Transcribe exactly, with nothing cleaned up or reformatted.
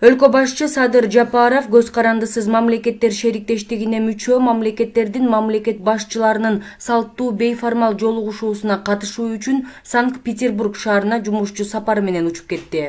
Өлкө башчы Садыр Жапаров көз карандысыз мамлекеттер шериктештигине мүчө мамлекеттердин мамлекет башчыларынын салттуу бейформал жолугушуусуна катышуу үчүн Санкт-Петербург шаарына жумушчу сапары менен учуп кетти.